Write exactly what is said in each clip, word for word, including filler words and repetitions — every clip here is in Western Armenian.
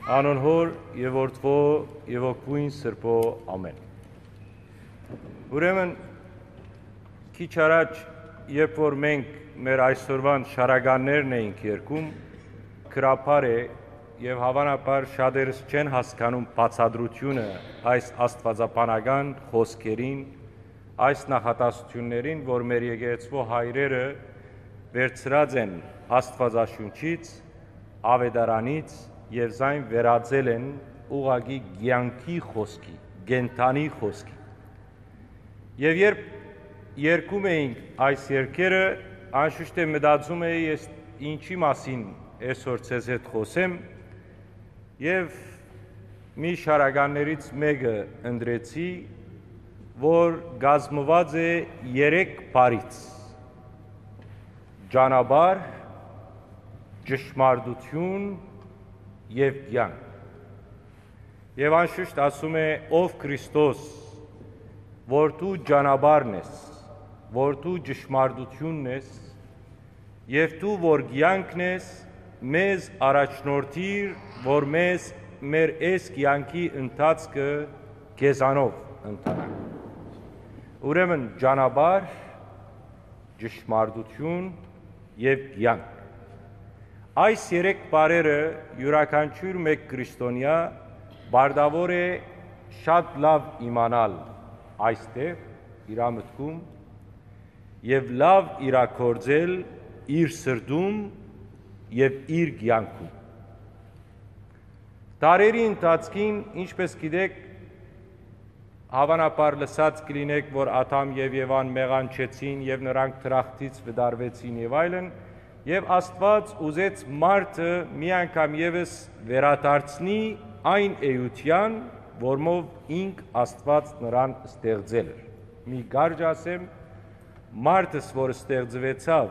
Անոր Հօր եւ Որդւոյ եւ Հոգւոյն Սրբոյ, ամէն։ Ուրեմն, քիչ առաջ, երբ որ մենք մեր այսօրուան շարականներն էինք երգում, գրաբար է, եւ հաւանաբար շատերս չեն հասկանում բացատրութիւնը այս աստուածաբանական խօսքերին, այս նախատասութիւններին, որ մեր եկեղեցւոյ հայրերը վերցրած են Աստուածաշունչից, աւետարանից եւ զայն վերածել են ուղղակի կեանքի խօսքի, կենդանի խօսքի։ Եւ երբ երգում էինք այս երգերը, անշուշտ է մտածում էի, ես ինչի՞ մասին այսօր ձեզ հետ խօսեմ, եւ մի շարականներից մէկը ընտրեցի, որ կազմուած է երեք բառից. ճանապարհ, ճշմարտութիւն եւ կեանք։ Եւ անշուշտ ասում է. «Ով Քրիստոս, որ դու ճանապարհն ես, որ դու ճշմարտութիւնն ես, եւ դու որ կեանքն ես, մեզ առաջնորդիր, որ մեզ մեր այս կեանքի ընթացքը քեզանով ընթանանք»։ Ուրեմն ճանապարհ, ճշմարտութիւն եւ կեանք։ Այս երեք բառերը իւրաքանչիւր մէկ քրիստոնեայ պարտաւոր է շատ լաւ իմանալ այստեղ, իրա մտքում, եւ լաւ իրագործել իր սրտում եւ իր կեանքում։ Դարերի ընթացքին, ինչպէս գիտէք, հաւանաբար լսած կլինէք, որ Ադամ եւ Եվան մեղանչեցին եւ նրանք դրախտից վտարուեցին եւ այլն, եւ Աստուած ուզեց մարդը մի անգամ եւս վերադարձնի այն էութեան, որմով ինք Աստուած նրան ստեղծել էր։ Մի կարճ ասեմ, մարդս որ ստեղծուեցաւ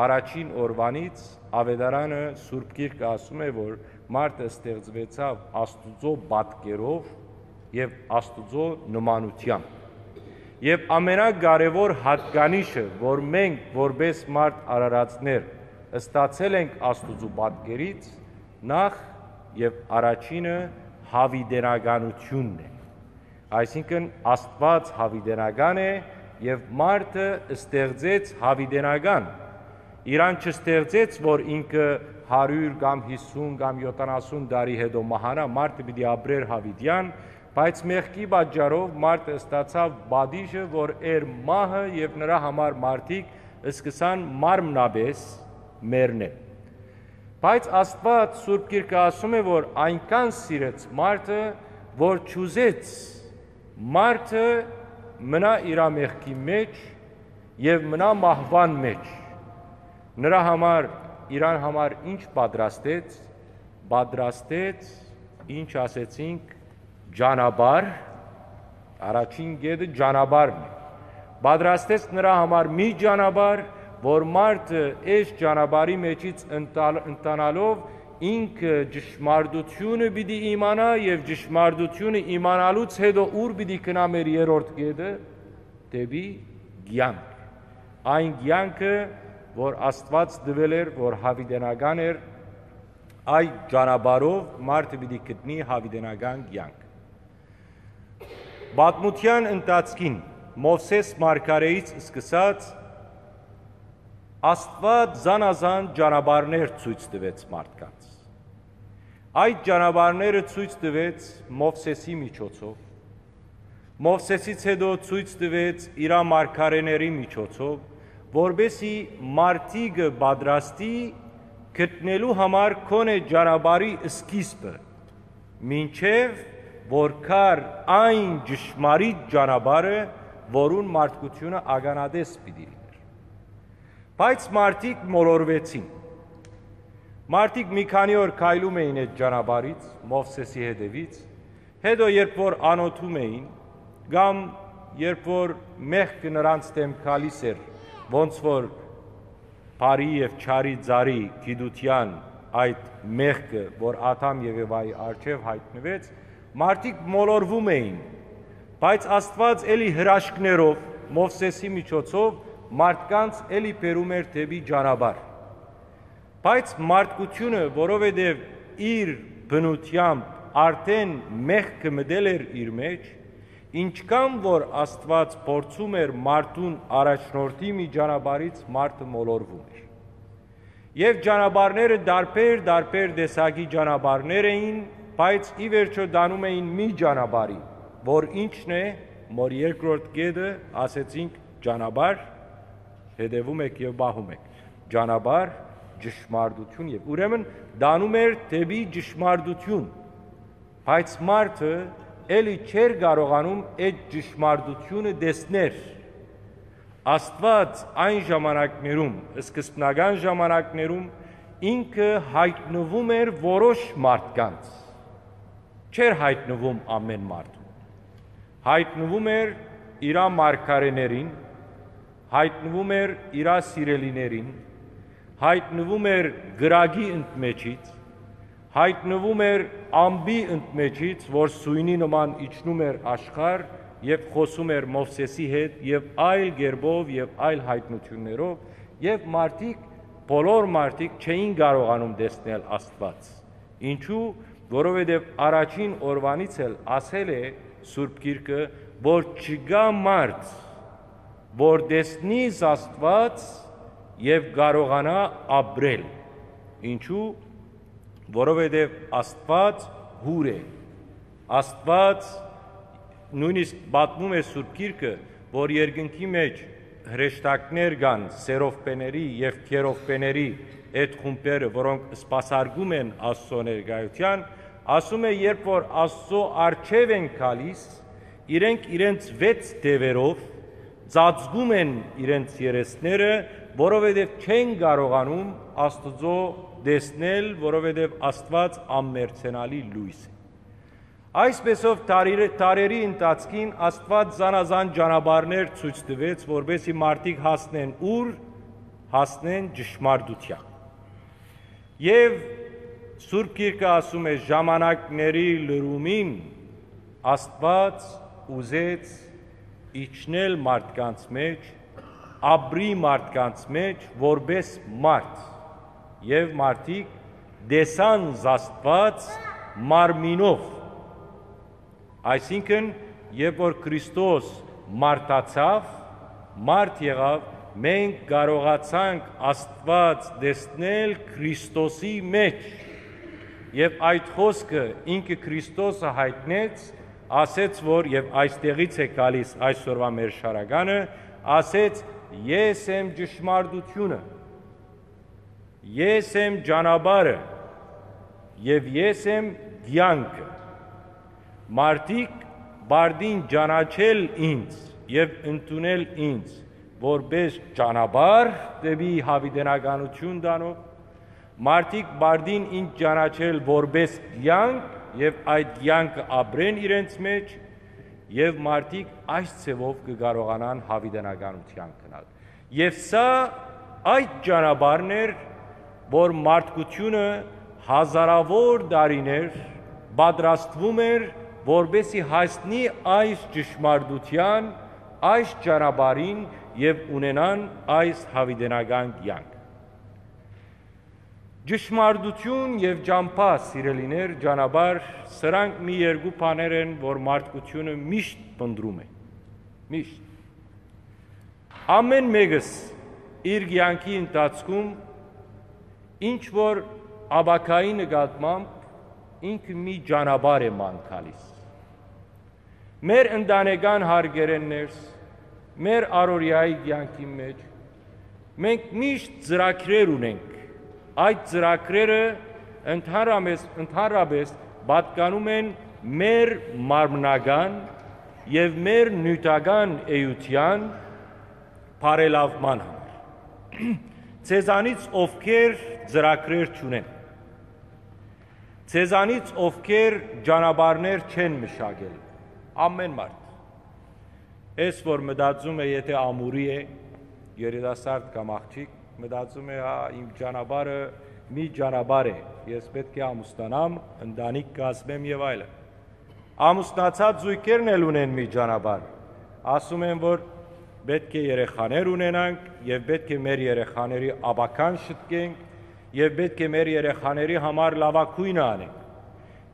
առաջին օրուանից, Աւետարանը, Սուրբ Գիրքը ասում է, որ մարդը ստեղծուեցաւ Աստուծոյ պատկերով եւ Աստուծոյ նմանութեամբ։ Եւ ամենակարեւոր յատկանիշը, որ մենք որպէս մարդ արարածներ ստացել ենք Աստուծոյ պատկերից, նախ եւ առաջինը յաւիտենականութիւնն է։ Այսինքն, Աստուած յաւիտենական է եւ մարդը ստեղծեց յաւիտենական։ Իրան չստեղծեց, որ ինքը հարիւր կամ յիսուն կամ յոթանասուն տարի յետոյ մահանայ, մարդը պիտի ապրէր յաւիտեան, բայց մեղքի պատճառով մարդը ստացաւ պատիժը, որ էր մահը, եւ նրա համար մարդիկ սկսան մարմնապէս մեռնել։ Բայց Աստուած, Սուրբ Գիրքը ասում է, որ այնքան սիրեց մարդը, որ չուզեց մարդը մնայ իրա մեղքի մէջ եւ մնայ մահուան մէջ։ Նրա համար, իրան համար ինչ պատրաստեց, պատրաստեց, ինչ ասեցինք, ճանապարհ, առաջին կետը ճանապարհն է։ Պատրաստեց նրա համար մի ճանապարհ, որ մարդը այս ճանապարհի մեջից ընտալ-, ընթանալով ինքը ճշմարտութիւնը պիտի իմանայ եւ ճշմարտութիւնը իմանալուց յետոյ ո՞ւր պիտի գնայ մեր երրորդ կետը, դէպի կեանք։ Այն կեանքը, որ Աստուած տուեր էր, որ յաւիտենական էր, այդ ճանապարհով մարդը պիտի գտնի յաւիտենական կեանք։ Պատմութեան ընթացքին Մովսէս մարգարէից սկսած Աստուած զանազան ճանապարհներ ցոյց տուեց մարդկանց։ Այդ ճանապարհները ցոյց տուեց Մովսէսի միջոցով։ Մովսէսից յետոյ ցոյց տուեց իրա մարգարէների միջոցով, որպէսզի մարդիկը պատրաստի գտնելու համար քոնէ ճանապարհի սկիզբը, մինչեւ որ գար այն ճշմարիտ ճանապարհը, որուն մարդկութիւնը ականատես պիտի լինէր։ Բայց մարդիկ մոլորուեցին։ Մարդիկ մի քանի օր քայլում էին այդ ճանապարհից, Մովսէսի հետեւից, հետո երբ որ անօթում էին, կամ երբ որ մեղքը նրանց դէմ գալիս էր, ոնց որ բարի եւ չարի ծառի գիտութեան այդ մեղքը, որ Ադամ եւ Եվայի առջեւ յայտնուեց, մարդիկ մոլորվում էին, բայց Աստուած էլի հրաշքներով, Մովսէսի միջոցով մարդկանց էլի բերում էր դէպի ճանապարհ։ Բայց մարդկությունը, որովհետեւ իր բնութեամբ արդէն մեղքը մտել էր իր մէջ, ինչքան որ Աստուած փորձում էր մարդուն առաջնորդի մի ճանապարհից, մարդը մոլորվում էր։ Եւ ճանապարհները դարբեր, դարբեր տեսակի ճանապարհներ էին, բայց ի վերջոյ տանում էին մի ճանապարհի, որ ինչն է, որ երկրորդ կետը, ասեցինք, ճանապարհ, հետեւում եք եւ պահում եք, ճանապարհ, ճշմարտություն, եւ ուրեմն տանում էր դէպի ճշմարտություն, բայց մարդը էլի չէր կարողանում այդ ճշմարտությունը տեսնել։ Աստուած այն ժամանակներում, սկզբնական ժամանակներում, ինքը յայտնվում էր որոշ մարդկանց, չէր յայտնվում ամէն մարդուն, յայտնվում էր իրա մարգարէներին, յայտնվում էր իրա սիրելիներին, յայտնվում էր կրակի ընդմէջից, յայտնվում էր ամպի ընդմէջից, որ սոյնի նման իջնում էր աշխարհ եւ խօսում էր Մովսէսի հետ եւ այլ կերպով եւ այլ յայտնութիւններով, եւ մարդիկ, բոլոր մարդիկ չէին կարողանում տեսնել Աստուած։ Ինչու՞, որովհետեւ առաջին օրուանից էլ ասել է Սուրբ Գիրքը, որ չկայ մարդ, որ տեսնի Աստուած եւ կարողանայ ապրել։ Ինչու՞, որովհետեւ Աստուած յուր է։ Աստուած, նոյնիսկ պատմում է Սուրբ Գիրքը, որ երկնքի մէջ հրեշտակներ կան, սերովբեների եւ քերովբեների այդ խումբերը, որոնք սպասարկում են Աստուծոյ ներկայութեան, ասում է, երբ որ Աստուծոյ առջեւ են գալիս, իրենք իրենց վեց դեւերով ծածկում են իրենց երեսները, որովհետեւ չեն կարողանում Աստուծոյ տեսնել, որովհետեւ Աստուած անմերձենալի լոյս է։ Այսպեսով, տարի-, տարերի ընթացքին Աստուած զանազան ճանապարհներ ցոյց տուեց, որպեսզի մարդիկ հասնեն ուր, հասնեն ճշմարտութեան։ Եւ Սուրբ Գիրքը ասում է, ժամանակների լրումին Աստուած ուզեց իջնել մարդկանց մէջ, ապրի մարդկանց մէջ որպէս մարդ, եւ մարդիկ տեսան Աստուած մարմինով։ Այսինքն, երբ որ Քրիստոս մարդացաւ, մարդ եղաւ, մենք կարողացանք Աստուած տեսնել Քրիստոսի մէջ։ Եւ այդ խօսքը ինքը Քրիստոսը յայտնեց, ասեց, որ, եւ այստեղից է գալիս այսօրվա մեր շարականը, ասեց. «Ես եմ ճշմարտությունը, ես եմ ճանապարհը եւ ես եմ կեանքը։ Մարդիկ պարտին ճանաչել ինձ եւ ընդունել ինձ որպէս ճանապարհ դէպի յաւիտենականութիւն տանող, մարդիկ պարտին ինձ ճանաչել որպէս կեանք եւ այդ կեանքը ապրեն իրենց մէջ, եւ մարդիկ այս ձեւով կը կարողանան յաւիտենականութեան գնալ»։ Եւ սա այդ ճանապարհն էր, որ մարդկությունը հազարաւոր տարիներ պատրաստվում էր, որպեսզի հասնի այս ճշմարտութեան, այս ճանապարհին եւ ունենան այս յաւիտենական կեանք։ Ճշմարտություն եւ ճամբայ, սիրելիներ, ճանապարհ, սրանք մի երկու բաներ են, որ մարդկությունը միշտ փնտռում է։ Միշտ։ Ամէն մէկս իր կեանքի ընթացքում ինչ որ ապագայի նկատմամբ ինքը մի ճանապարհ է ման գալիս։ Մեր ընտանեկան հարկերէն ներս, մեր առօրեայի կեանքի մէջ մենք միշտ ծրագրեր ունենք։ Այդ ծրագրերը ընդհանրապես, ընդհանրապես պատկանում են մեր մարմնական եւ մեր նիւթական էութեան բարելաւման համար։ Ձեզանից ովքեր ծրագրեր չունեն, ձեզանից ովքեր ճանապարհներ չեն մշակել, ամէն մարդ։ Ես որ մտածում է, եթե ամուրի է, երիտասարդ կամ աղջիկ, մտածում է, «Հա, իմ ճանապարհը մի ճանապարհ է, ես պէտք է ամուսնանամ, ընտանիք կազմեմ եւ այլն»։ Ամուսնացած զոյգերն էլ ունեն մի ճանապարհ, ասում են, որ պէտք է երեխաներ ունենանք եւ պէտք է մեր երեխաների ապագան շտկենք եւ պէտք է մեր երեխաների համար լաւագոյնը անենք։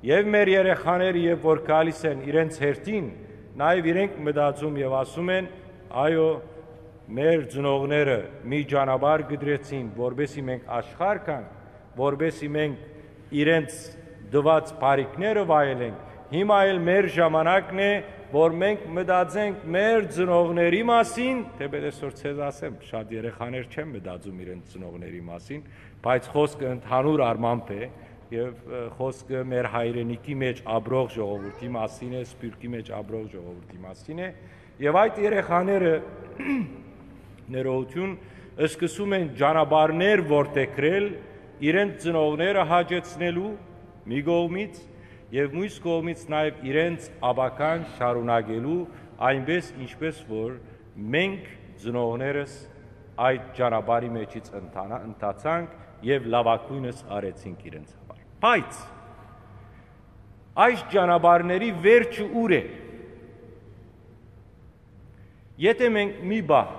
Եւ մեր երեխաները, երբ որ գալիս են իրենց հերթին, նաեւ իրենք մտածում եւ ասում են. «Այո, մեր ծնողները մի ճանապարհ կդրեցին, որպեսզի մենք աշխարհ գանք, որպեսզի մենք իրենց տուած բարիքները վայելենք։ Հիմա էլ մեր ժամանակն է, որ մենք մտածենք մեր ծնողների մասին», թէ պետք է որ ձեզ ասեմ, շատ երեխաներ չեն մտածում իրենց ծնողների մասին, բայց խոսքը ընդհանուր առմամբ է, եւ, ը, խոսքը մեր հայրենիքի մեջ ապրող ժողովուրդի մասին է, սփիւռքի մեջ ապրող ժողովուրդի մասին է, եւ այդ երեխաները ներողություն, սկսում են ճանապարհներ որդեգրել իրենց ծնողները հաճեցնելու մի կողմից, եւ մյուս կողմից նաեւ իրենց ապագան շարունակելու այնպես, ինչպես որ մենք ծնողներս այդ ճանապարհի մեջից ընթանա-, ընթացանք եւ լաւագոյնս արեցինք իրենց համար։ Բայց այս ճանապարհների վերջը ո՞ւր է։ Եթէ մենք մի պահ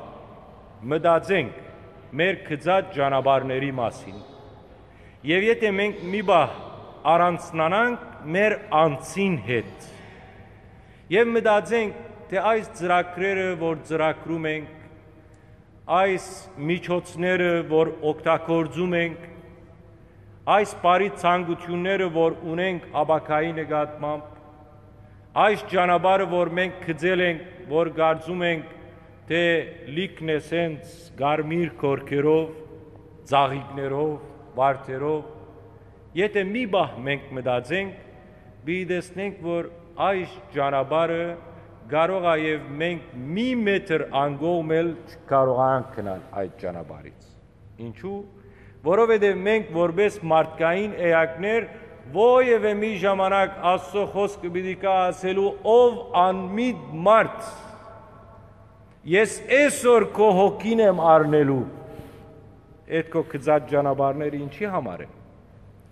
մտածենք մեր գծած ճանապարհների մասին, եւ եթէ մենք մի պահ առանձնանանք մեր անձին հետ, եւ մտածենք, թէ այս ծրագրերը, որ ծրագրում ենք, այս միջոցները, որ օգտագործում ենք, այս բարի ցանկությունները, որ ունենք ապագայի նկատմամբ, այս ճանապարհը, որ մենք գծել ենք, որ կարծում ենք, թէ լիքն է սենց կարմիր կորքերով, ծաղիկներով, վարդերով, եթէ մի պահ մենք մտածենք, պիտի տեսնենք, որ այս ճանապարհը կարող է, եւ մենք մի մետր անկողմ էլ չկարողանանք գնալ այդ ճանապարհից։ Ինչու՞։ Որովհետեւ մենք, որպես մարդկային էակներ, որեւէ մի ժամանակ Աստծո խօսքը պիտի գայ ասելու. «Ով անմիտ մարդ, ես այսօր քո հոգին եմ առնելու»։ Այդ քո գծած ճանապարհները ինչի համար են,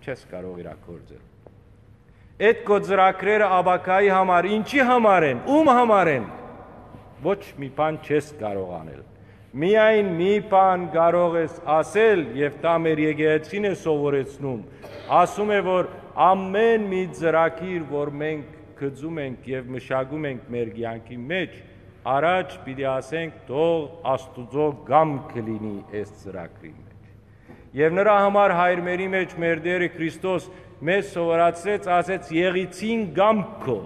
չես կարող իրագործել։ Այդ քո ծրագրերը ապագայի համար ինչի համար են, ո՞ւմ համար են։ Ոչ մի բան չես կարող անել։ Միայն մի բան կարող ես ասել, եւ դա մեր եկեղեցին է սովորեցնում, ասում է, որ ամեն մի ծրագիր, որ մենք գծում ենք եւ մշակում ենք մեր կեանքի մեջ, առաջ պիտի ասենք. «Թող Աստուծոյ կամքը լինի այս ծրագրին մեջ»։ Եւ նրա համար հայրմերի մեջ մեր Տէրը Քրիստոս մեզ սովորեցրեց, ասեց. «Եղիցին կամք քո։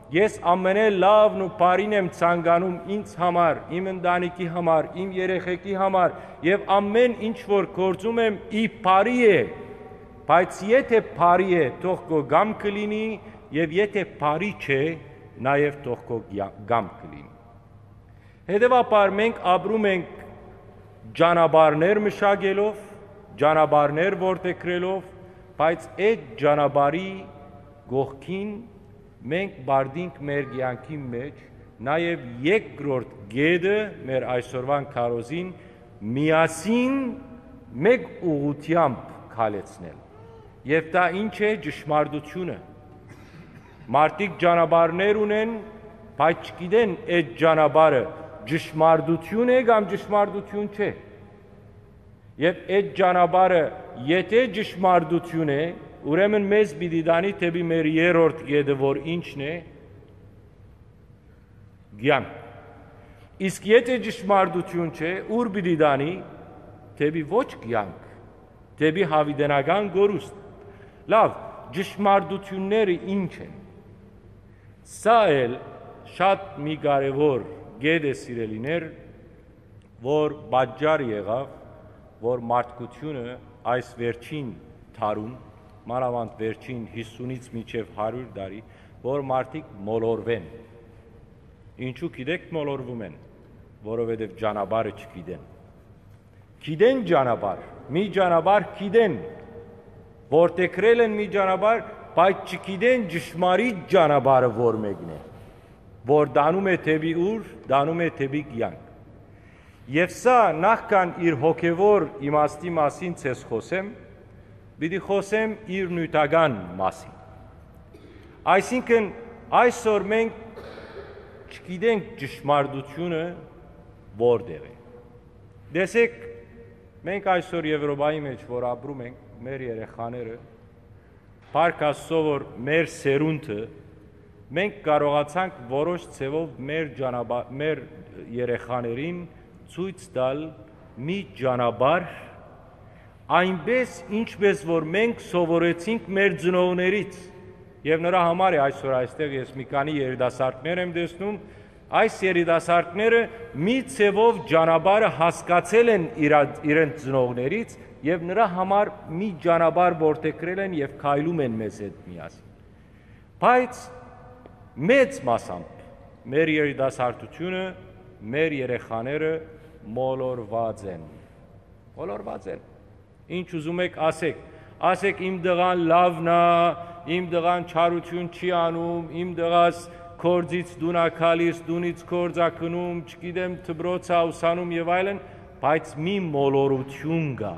Ես ամենէ լավն ու բարին եմ ցանկանում ինձ համար, իմ ընտանիքի համար, իմ երեխեքի համար, եւ ամեն ինչ որ գործում եմ, ի բարի է։ Բայց եթէ բարի է, թող քո կամքը լինի, եւ եթէ բարի չէ, նաեւ թող քո կյա-, կամքը լինի»։ Հետեւաբար մենք ապրում ենք ճանապարհներ մշակելով, ճանապարհներ որդեգրելով, բայց այդ ճանապարհի կողքին մենք պարտինք մեր կեանքի մեջ նաեւ երկրորդ կետը մեր այսօրվան քարոզին, միասին մեկ ուղղությամբ քալեցնել։ Եւ դա ի՞նչ է, ճշմարտությունը։ Մարդիկ ճանապարհներ ունեն, բայց չգիտեն այդ ճանապարհը ճշմարտություն է կամ ճշմարտություն չէ։ Եւ այդ ճանապարհը եթէ ճշմարտություն է, ուրեմն մեզ պիտի տանի դէպի մեր երրորդ կետը, որ ի՞նչն է, կեանք։ Իսկ եթէ ճշմարտություն չէ, ո՞ւր պիտի տանի, դէպի ոչ կեանք, դէպի յաւիտենական կորուստ։ Լավ, ճշմարտությունները ի՞նչ են։ Սա էլ շատ մի կարեւոր կետ է, սիրելիներ, որ պատճառ եղաւ, որ մարդկությունը այս վերջին դարուն, մանաւանդ վերջին հիսունից մինչեւ հարիւր տարի, որ մարդիկ մոլորուեն։ Ինչու՞ գիտեք մոլորվում են, որովհետեւ ճանապարհը չգիտեն։ Գիտեն ճանապարհ, մի ճանապարհ գիտեն, որդեգրել են մի ճանապարհ, բայց չգիտեն ճշմարիտ ճանապարհը որ մեկն է, որ տանում է դէպի ո՞ւր, տանում է դէպի կեանք։ Եւ սա նախքան իր հոգեվոր իմաստի մասին ձեզ խօսեմ, պիտի խօսեմ իր նիւթական մասին։ Այսինքն այսօր մենք չգիտենք ճշմարտությունը որտեղ է։ Տեսեք, մենք այսօր Եվրոպայի մեջ որ ապրում ենք, մեր երեխաները Փառք Աստծո, որ մեր սերունդը, մենք կարողացանք որոշ ձևով մեր ճանապա-, մեր երեխաներին ցոյց տալ մի ճանապարհ, այնպես ինչպես որ մենք սովորեցինք մեր ծնողներից։ Եվ նրա համար է այսօր այստեղ ես մի քանի երիտասարդներ եմ տեսնում։ Այս երիտասարդները մի ձևով ճանապարհը հասկացել են իրա-, իրենց ծնողներից եւ նրա համար մի ճանապարհ որդեգրել են եւ քայլում են մեզ հետ միասին։ Բայց մեծ մասամբ մեր երիտասարդությունը, մեր երեխաները մոլորված են։ Մոլորված են։ Ինչ ուզում եք ասեք, ասեք՝ «Իմ տղան լաւն ա, իմ տղան չարութիւն չի անում, իմ տղաս գործից տուն ա գալիս, տունից գործ ա գնում, չգիտեմ, դպրոց ա ուսանում եւ այլն», բայց մի մոլորութիւն կայ։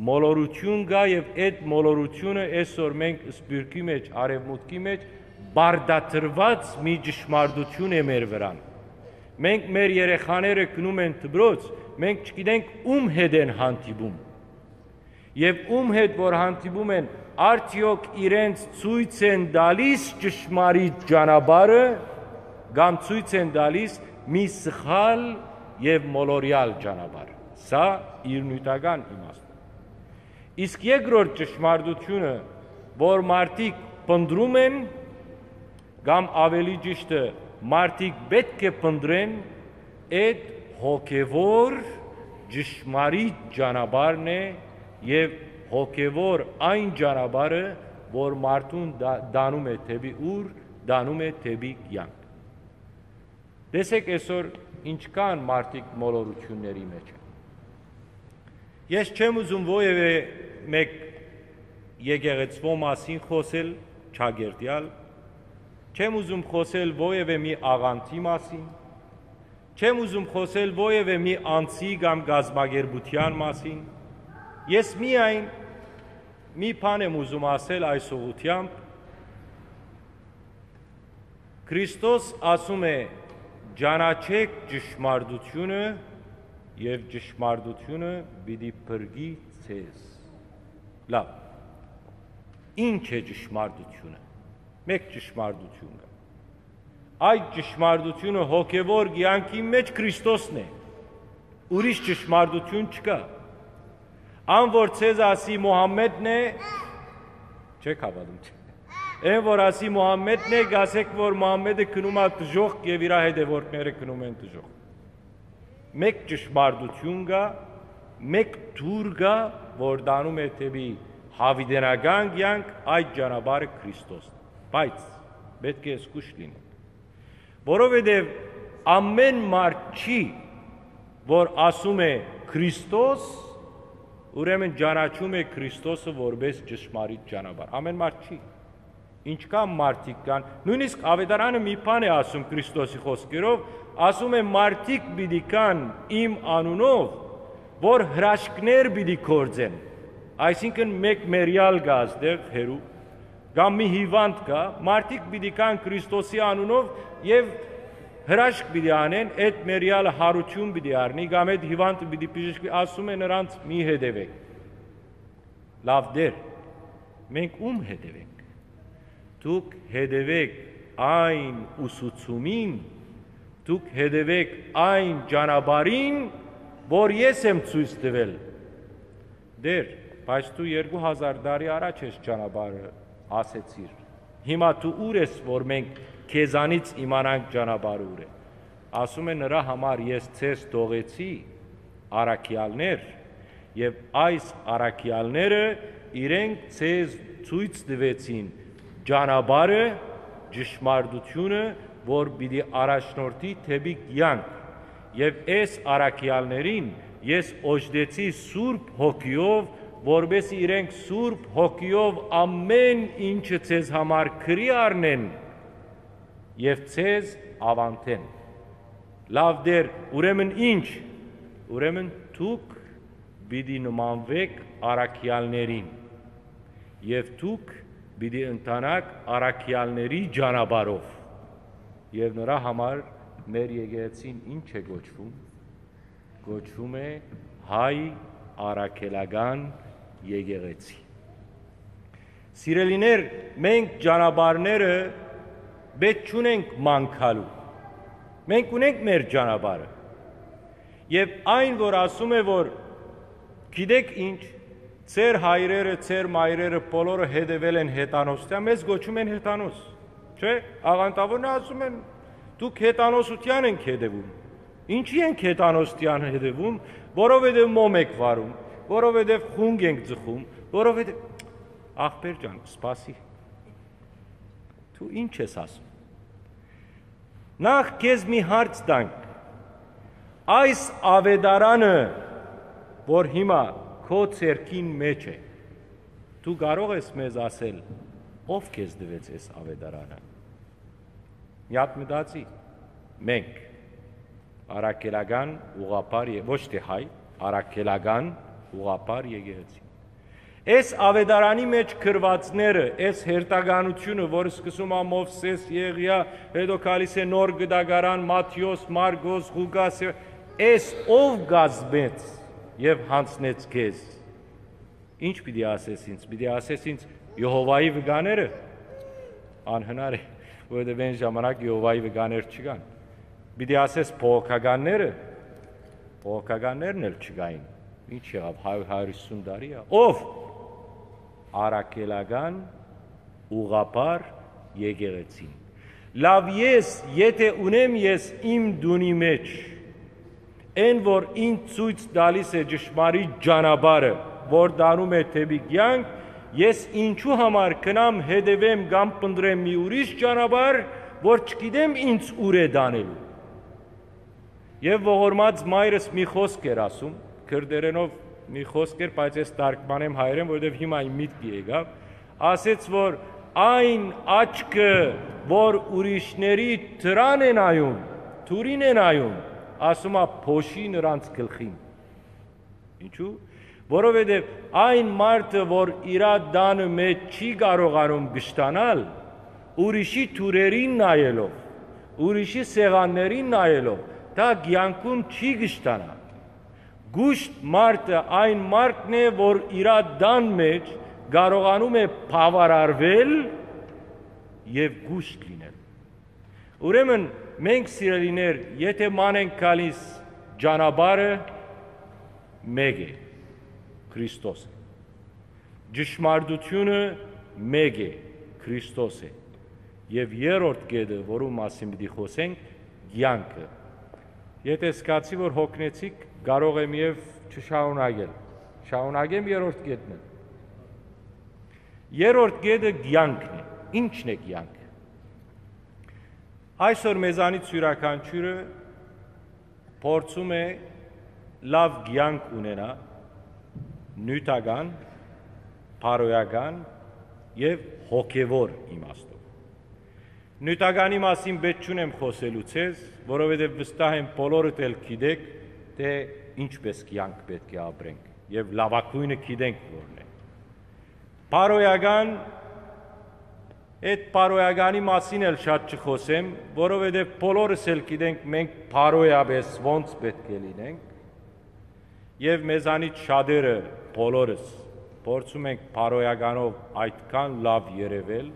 Մոլորութիւն կայ եւ այդ մոլորութիւնը այսօր մենք սփիւռքի մէջ, արեւմուտքի մէջ պարտադրուած մի ճշմարտութիւն է մեր վրան։ Մենք մեր երեխաները գնում են դպրոց, մենք չգիտենք ում հետ են հանդիպում։ Եւ ում հետ որ հանդիպում են, արդեօք իրենց ցոյց են տալի՞ս ճշմարիտ ճանապարհը, կամ ցոյց են տալիս մի սխալ եւ մոլորեալ ճանապարհ։ Սա իր նիւթական իմաստով։ Իսկ երկրորդ ճշմարտությունը, որ մարդիկ փնտռում են, կամ ավելի ճիշտը, մարդիկ պէտք է փնտռեն, այդ հոգեւոր ճշմարիտ ճանապարհն է եւ հոգեւոր այն ճանապարհը, որ մարդուն դա-, տանում է դէպի ուր, տանում է դէպի կեանք։ Տեսեք այսօր ինչքան մարդիկ մոլորութիւնների մէջ են։ Ես չեմ ուզում որեւէ մէկ եկեղեցւոյ մասին խօսել, չակերտեալ, չեմ ուզում խօսել որեւէ մի աղանդի մասին, չեմ ուզում խօսել որեւէ մի անձի կամ կազմակերպութեան մասին։ Ես միայն մի բան եմ ուզում ասել այս ուղղութեամբ։ Քրիստոս ասում է. «Ճանաչէք ճշմարտութիւնը, եւ ճշմարտութիւնը պիտի փրկի ձեզ»։ Լաւ, ի՞նչ է ճշմարտութիւնը։ Մէկ ճշմարտութիւն կայ։ Այդ ճշմարտութիւնը հոգեւոր կեանքի մէջ Քրիստոսն է։ Ուրիշ ճշմարտութիւն չկայ։ Ան որ ձեզ ասի Մուհամմեդն է, չեք հաւատում, չէ՞։ Այն որ ասի Մուհամմեդն է, կասեք որ Մուհամմեդը գնում է դժոխք եւ իրա հետեւորդները գնում են դժոխք։ Մէկ ճշմարտութիւն կայ, մէկ դուռ կայ, որ տանում է դէպի յաւիտենական կեանք, այդ ճանապարհը Քրիստոսն է։ Բայց պէտք է զգոյշ լինենք, որովհետեւ ամէն մարդ չի, որ ասում է Քրիստոս, ուրեմն ճանաչում է Քրիստոսը որպես ճշմարիտ ճանապարհ։ Ամէն մարդ չի։ Ինչքան մարդիկ կան, նոյնիսկ Աւետարանը մի բան է ասում Քրիստոսի խօսքերով, ասում է. «Մարդիկ պիտի գան իմ անունով, որ հրաշքներ պիտի գործեն»։ Այսինքն մէկ մեռեալ կայ այստեղ հեռու, կամ մի հիւանդ կայ, մարդիկ պիտի գան Քրիստոսի անունով եւ հրաշք պիտի անեն, այդ մեռեալը յարութիւն պիտի առնի, կամ այդ հիւանդը պիտի բժշկի, ասում է նրանց. «Մի հետեւէք»։ Լաւ Տէր, մենք ո՞ւմ հետեւենք։ Դուք հետեւէք այն ուսուցումին, դուք հետեւէք այն ճանապարհին, որ ես եմ ցոյց տուել։ Տէր, բայց դու երկու հազար տարի առաջ ես ճանապարհը ասեցիր։ Հիմա դու ո՞ւր ես, որ մենք քեզանից իմանանք ճանապարհը ո՞ւր է։ Ասում է. «Նրա համար ես ձեզ թողեցի առաքեալներ, եւ այս առաքեալները իրենք ձեզ ցոյց տուեցին ճանապարհը, ճշմարտությունը, որ պիտի առաջնորդի դէպի կեանք։ Եւ այս առաքեալներին ես օժտեցի Սուրբ Հոգիով, որպեսզի իրենք Սուրբ Հոգիով ամէն ինչը ձեզ համար քրի առնեն եւ ձեզ աւանդեն»։ Լաւ Տէր, ուրեմն ի՞նչ։ Ուրեմն դուք պիտի նմանուէք առաքեալներին, եւ դուք պիտի ընթանաք առաքեալների ճանապարհով։ Եւ նրա համար մեր եկեղեցին ի՞նչ է կոչվում։ Կոչվում է հայ առաքելական եկեղեցի։ Սիրելիներ, մենք ճանապարհները պէտք չունենք մանկալու։ Մենք ունենք մեր ճանապարհը։ Եւ այն, որ ասում է, որ գիտեք ինչ, ձեր հայրերը, ձեր մայրերը բոլորը հետեւել են հեթանոս, դե մեզ կոչում են հեթանոս։ Չէ՞, աղանդավորն ասում են, դուք հեթանոսութեան ենք հետեւում։ Ինչի՞ ենք հեթանոսութեան հետեւում, որովհետեւ մոմ եք վարում, որովհետեւ խունկ ենք ձգում, որովհետեւ, ախպեր ջան, սպասի, դու ինչ ես ասում։ Նախ քեզ մի հարց տանք. այս ավետարանը, որ հիմա քո ձեռքին մէջ է, դու կարող ես մեզ ասել, ով քեզ տուեց այս ավետարանը։ Մի հատ մտածի, մենք, առաքելական ուղղափառ ե-, ոչ թե հայ, առաքելական ուղղափառ եկեղեցի։ Այս ավետարանի մէջ գրուածները, այս հերթականությունը, որ սկսում ա Մովսէս, Եղիա, հետո գալիս է Նոր Կտակարան, Մատթէոս, Մարկոս, Ղուկաս, այս ով կազմեց եւ յանձնեց քեզ։ Ինչ պիտի ասես ինձ, պիտի ասես ինձ Եհովայի վկաները։ Անհնար է, որովհետեւ այն ժամանակ Եհովայի վկաներ չկան։ Պիտի ասես փողոքականները, փողոքականներն էլ չկային։ Ինչ եղաւ, հարիւր, հարիւր յիսուն տարի ա։ Ով? Առաքելական ուղղափառ եկեղեցին։ Լաւ, ես, եթէ ունեմ ես իմ տունի մէջ, այն որ ինձ ցոյց տալիս է ճշմարիտ ճանապարհը, որ տանում է դէպի կեանք, ես ինչու համար գնամ հետեւեմ կամ փնտռեմ մի ուրիշ ճանապարհ, որ չգիտեմ ինձ ուր է տանելու։ Եւ ողորմած մայրս մի խօսք էր ասում, քրտերենով մի խօսք էր, բայց ես թարգմանեմ հայերէն, որովհետեւ հիմա իմ միտքը եկաւ, ասեց, որ այն աչքը, որ ուրիշների դրան է նայում, դուրին է նայում, ասում ա, փոշի նրանց գլխին։ Ինչու՞։ Որովհետեւ այն մարդը, որ իրա տանը մէջ չի կարողանում կշտանալ, ուրիշի դուրերին նայելով, ուրիշի սեղաններին նայելով, դա կեանքում չի կշտանա։ Կուշտ մարդը այն մարդն է, որ իրա տան մէջ կարողանում է բաւարարվել եւ կուշտ լինել։ Ուրեմն մենք, սիրելիներ, եթէ ման ենք գալիս, ճանապարհը մէկ է, Քրիստոս է։ Ճշմարտությունը մէկ է, Քրիստոս է։ Եւ երրորդ կետը, որու մասին պիտի խօսենք, կեանքը։ Եթէ զգացի, որ յոգնեցիք, կարող եմ եւ չշարունակել։ Շարունակեմ երրորդ կետն է։ Երրորդ կետը կեանքն է։ Ի՞նչն է կեանքը։ Այսօր մեզանից իւրաքանչիւրը փորձում է լաւ կեանք ունենա, նիւթական, բարոյական եւ հոգեւոր իմաստով։ Նիւթականի մասին պէտք չունեմ խօսելու ձեզ, որովհետեւ վստահ եմ, բոլորդ էլ գիտեք, թէ ինչպէս կեանք պէտք է ապրենք եւ լաւագոյնը գիտենք որն է։ Բարոյական, այդ բարոյականի մասին էլ շատ չխօսեմ, որովհետեւ բոլորս էլ գիտենք մենք բարոյապէս ոնց պէտք է լինենք, եւ մեզանից շատերը, բոլորս, փորձում ենք բարոյականով այդքան լաւ երեւել,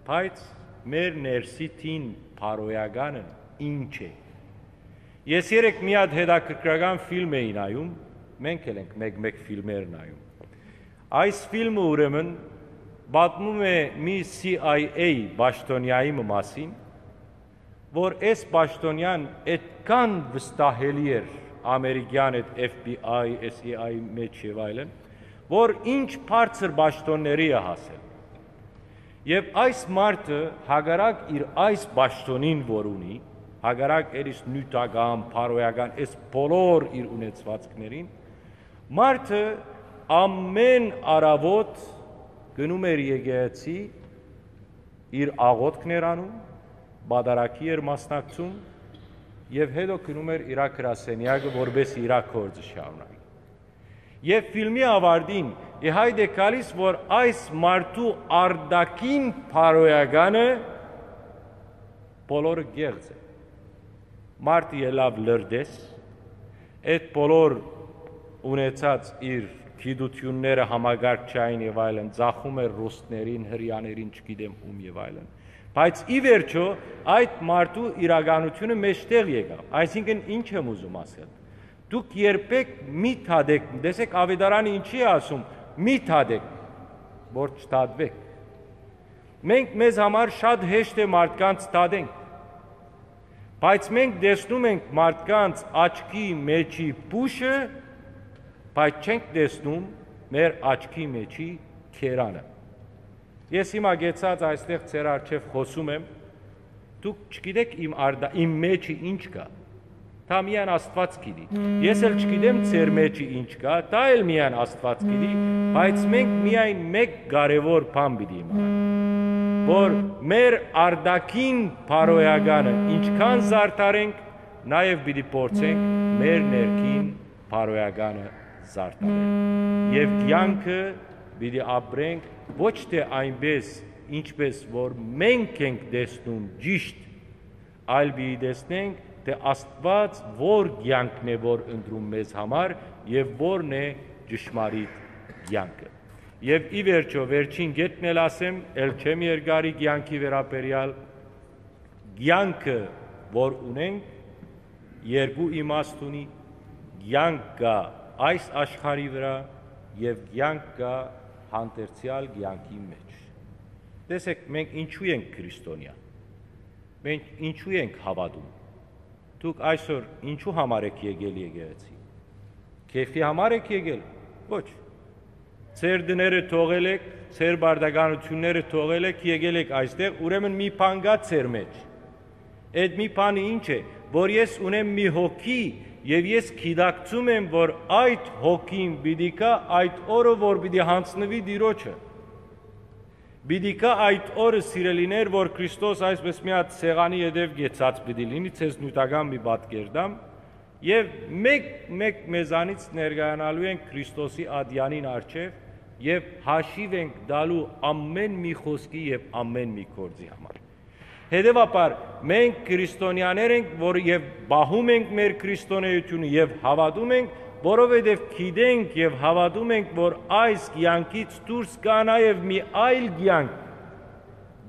բայց մեր ներսի թին բարոյականը ի՞նչ է։ Ես երեկ մի հատ հետաքրքրական ֆիլմ էի նայում, մենք էլ ենք մեկ-մեկ ֆիլմեր նայում։ Այս ֆիլմը, ուրեմն, պատմում է մի C I A պաշտոնյայի մը մասին, որ այս պաշտոնյան այդքան վստահելի էր ամերիկյան այդ F B I, S E I մեջ եւ այլն, որ ինչ բարձր պաշտոնների է հասել։ Եւ այս մարդը, հակառակ իր այս պաշտոնին, որ ունի, հակառակ էլիս նիւթական, բարոյական, այս բոլոր իր ունեցվածքներին, մարդը ամեն առավոտ գնում էր եկեղեցի, իր աղոթքն էր անում, պատարագի էր մասնակցում եւ հետո գնում էր իրա գրասենյակը, որպէս իրա գործը շարունակի։ Եւ ֆիլմի ավարտին ի հայտ է գալիս, որ այս մարդու արտաքին բարոյականը բոլորը կեղծ է։ Մարդը ելաւ լրտես, այդ բոլոր ունեցած իր գիտութիւնները համակարգչային եւ այլն, ծախում էր ռուսներին, հրեաներին, չգիտեմ ում եւ այլն։ Բայց ի վերջոյ այդ մարդու իրականութիւնը մէջտեղ եկաւ։ Այսինքն, ինչ եմ ուզում ասել։ Դուք երբեք մի դատեք, տեսեք, Աւետարանը ինչի է ասում, մի դատեք, որ չդատուեք։ Մենք, մեզ համար շատ հեշտ է մարդկանց դատենք, բայց մենք տեսնում ենք մարդկանց աչքի մեջի փուշը, բայց չենք տեսնում մեր աչքի մեջի գերանը։ Ես հիմա գեցած այստեղ ձեր առջեւ խօսում եմ, դուք չգիտեք իմ արդա-, իմ մեջը ինչ կայ, դա միայն Աստուած գիտի։ Ես էլ չգիտեմ ձեր մեջը ինչ կայ, դա էլ միայն Աստուած գիտի, բայց մենք միայն մէկ կարեւոր բան պիտի իմանանք, որ մեր արտաքին բարոյականը ինչքան զարդարենք, նաեւ պիտի փորձենք մեր ներքին բարոյականը զարդարել։ Եւ կեանքը պիտի ապրենք ոչ թէ այնպես, ինչպես որ մենք ենք տեսնում ճիշտ, այլ պիտի տեսնենք թէ Աստուած որ կեանքն է որ ընտրում մեզ համար եւ որն է ճշմարիտ կեանքը։ Եւ ի վերջոյ, վերջին կետն էլ ասեմ, ել չեմ երկարի կեանքի վերաբերեալ, կեանքը որ ունենք, երկու իմաստ ունի, կեանք կայ այս աշխարհի վրայ եւ կեանք կայ հանդերձեալ կեանքի մէջ։ Տեսեք, մենք ինչու ենք քրիստոնեայ, մենք ինչու ենք հաւատում։ Դուք այսօր ինչու համար եք եկել եկեղեցի, քեֆի համար եք եկել։ Ոչ։ Ձեր տները թողել եք, ձեր պարտականութիւնները թողել եք, եկել եք այստեղ, ուրեմն մի բան կայ ձեր մէջ։ Այդ մի բանը ինչ է, որ ես ունեմ մի հոգի եւ ես գիտակցում եմ, որ այդ հոգին պիտի գայ այդ օրը, որ պիտի յանձնուի Տիրոջը։ Պիտի գայ այդ օրը, սիրելիներ, որ Քրիստոս այսպես մի հատ սեղանի ետեւ կեցած պիտի լինի, ձեզ նիւթական մի պատկեր տամ, եւ մէկ-մէկ մեզանից ներկայանալու ենք Քրիստոսի ատեանին առջեւ եւ հաշիւ ենք տալու ամէն մի խօսքի եւ ամէն մի գործի համար։ Հետեւաբար, մենք քրիստոնեաներ ենք, որ եւ պահում ենք մեր քրիստոնեությունը եւ հաւատում ենք, որովհետեւ գիտենք եւ հաւատում ենք, որ այս կեանքից դուրս կայ նաեւ մի այլ կեանք,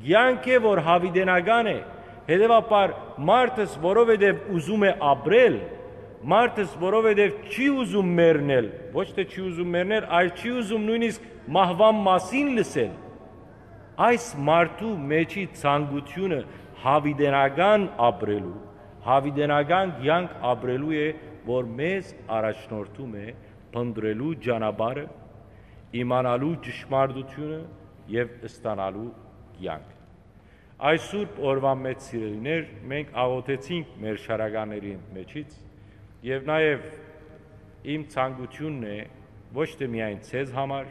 կեանք է, որ յաւիտենական է։ Հետեւաբար, մարդս որովհետեւ ուզում է ապրել, մարդս որովհետեւ չի ուզում մեռնել, ոչ թէ չի ուզում մեռնել, այլ չի ուզում նոյնիսկ մահուան մասին լսել, այս մարդու մեջի ցանկությունը յաւիտենական ապրելու, յաւիտենական կեանք ապրելու է, որ մեզ առաջնորդում է փնտռելու ճանապարհը, իմանալու ճշմարտությունը եւ ստանալու կեանքը։ Այս սուրբ օրուան մէջ, սիրելիներ, մենք աղօթեցինք մեր շարականների մեջից եւ նաեւ իմ ցանկությունն է ոչ թէ միայն ձեզ համար,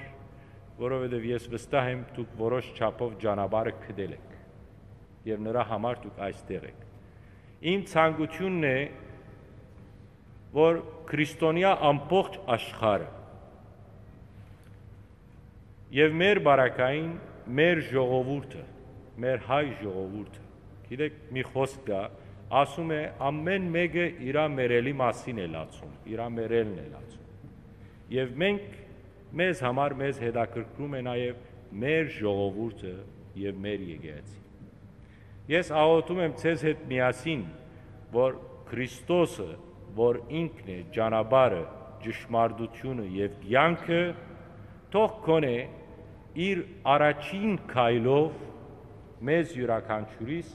որովհետեւ ես վստահ եմ, դուք որոշ չափով ճանապարհը գտել եք եւ նրա համար դուք այստեղ եք։ Իմ ցանկությունն է, որ քրիստոնեայ ամբողջ աշխարհը եւ մեր բարակային, մեր ժողովուրդը, մեր հայ ժողովուրդը, գիտեք, մի խօսք կայ, ասում է, ամէն մէկը իրա մեռելի մասին է լացում, իրա մեռելն է լացում։ Եւ մենք, մեզ համար, մեզ հետաքրքրում է նաեւ մեր ժողովուրդը եւ մեր եկեղեցին։ Ես աղօթում եմ ձեզ հետ միասին, որ Քրիստոսը, որ ինքն է ճանապարհը, ճշմարտությունը եւ կեանքը, թող գոնե իր առաջին քայլով մեզ յուրաքանչիւրիս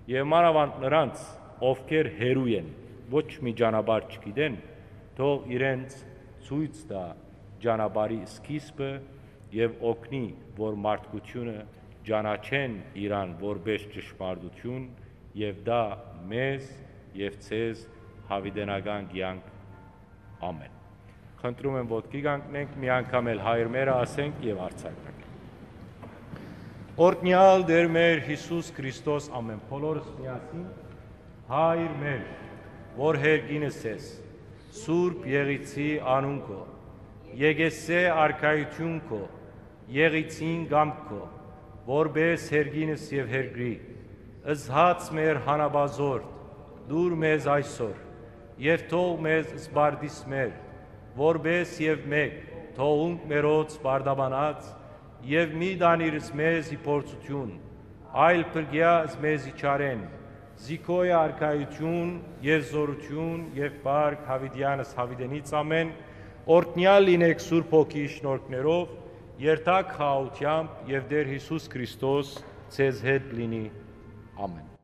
եւ մանաւանդ նրանց, ովքեր հեռու են, ոչ մի ճանապարհ չգիտեն, թող իրենց ցոյց տայ ճանապարհի սկիզբը եւ օգնի, որ մարդկությունը ճանաչեն իրան որպէս ճշմարտություն եւ տայ մեզ եւ ձեզ յաւիտենական կեանք։ Ամէն։ Խնդրում եմ, ոտքի կանգնենք, մի անգամ էլ Հայր մերը ասենք եւ արձակենք։ Օրհնեալ Տեր մեր Յիսուս Քրիստոս, ամէն բոլորս միասին, Հայր մեր, որ երկինս ես, սուրբ Եղիցի անուն քո, եկեսե արքայություն քո, Եղիցին կամք քո, որպէս երկինս եւ երկրի, զհաց մեր հանապազորդ, տուր մեզ այսօր, եւ թող մեզ սպարտիս մեր, որպէս եւ մէկ Թողունք մերոց պարտապանած եւ մի տանիր զմեզ ի փորձութիւն, այլ փրկեա զմեզ ի չարէն, զիքոյ արքայութիւն եւ զորութիւն եւ պարկ յաւիտեանս յաւիտենից ամէն, օրհնեալ լինէք Սուրբ Հոգի շնորհքներով, երթաք խաղաղութեամբ եւ Տէր Յիսուս Քրիստոս ձեզ հետ լինի։ Ամէն։